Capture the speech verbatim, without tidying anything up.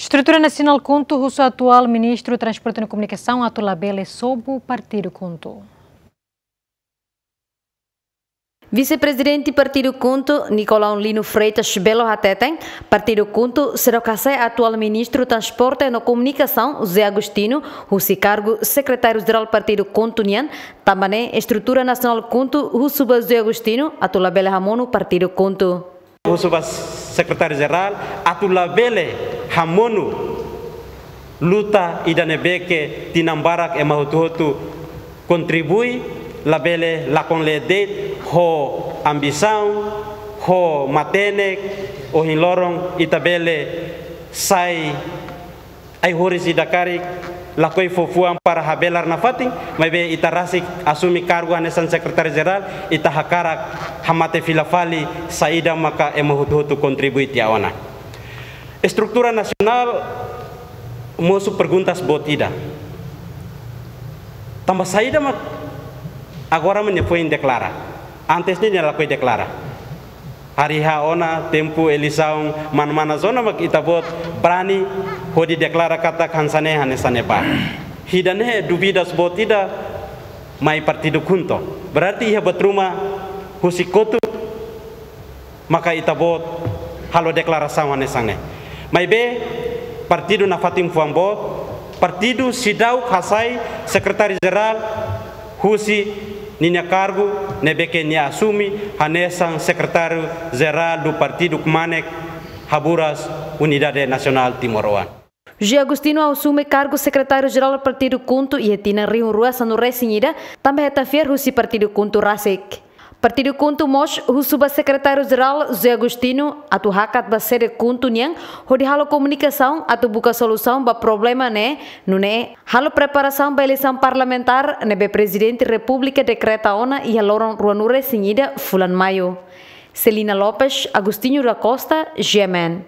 Estrutura Nasionál KHUNTO husu atuál Ministru Transporte no Komunikasaun atu labele sobu Partidu KHUNTO. Vise-Prezidente Partidu KHUNTO, Nicolau Lino Freitas Belo hateten, Partidu KHUNTO seidauk hasai atuál Ministru Transporte no Komunikasaun, José Agostinho, husi kargu Sekretáriu-Jerál Partidu KHUNTO nian, tanba ne'e estrutura nasionál KHUNTO husu ba José Agostinho atu labele hamonu Partidu KHUNTO. Husu ba Sekretáriu-Jerál atu labele hamonu luta ida ne'ebé ke tinan barak ema hotu-hotu kontribui, labele lakon lee de'it ho ambisaun, ho matenek, ohin loron ita bele sai ai-horis ida karik lakohi fó fuan para habelar nafatin, maibé ita rasik asume kargu hanesan Sekretáriu-Jerál, ita hakarak hamate fila fali saida maka ema hotu-hotu kontribui tiha ona. Estrutura nasionál mosu perguntas boot ida. Tanba saida mak agora mak nia foin deklara. Antes ne'e nia lakohi deklara. Hari ha ona tempu eleisaun mana-mana zona mak ita-boot brani hodi deklara katak hanesan ne'e hanesan ne'ebá. Ida-ne'e dúvidas boot ida mai Partidu KHUNTO. Berarti iha buat ruma husi kotuk maka ita-boot halo deklarasaun hanesan ne'e. Maibé partidu nafatin fuan boot, partidu seidauk hasai Sekretáriu-Jerál husi ninia kargu ne'ebé ke nia asume hanesan Sekretáriu-Jerál do Partidu Kmanek Haburas Unidade Nasionál Timoroan. José Agostinho asume kargu Sekretáriu-Jerál Partidu KHUNTO iha tinan rihun rua sanulu-resin-ida, tanba hetan fiar husi Partidu KHUNTO rasik. Partidu KHUNTO mós husu ba Sekretáriu-Jerál José Agostinho atu hakat ba sede KHUNTO nian hodi halo komunikasaun atu buka solusaun ba problema ne'e, nune'e halo preparasaun ba eleisaun parlamentár ne'ebé Prezidente Repúblika dekreta ona iha loron ruanulu-resin-ida fulan Maiu. Celina Lopes, Agostinho da Costa, G M N.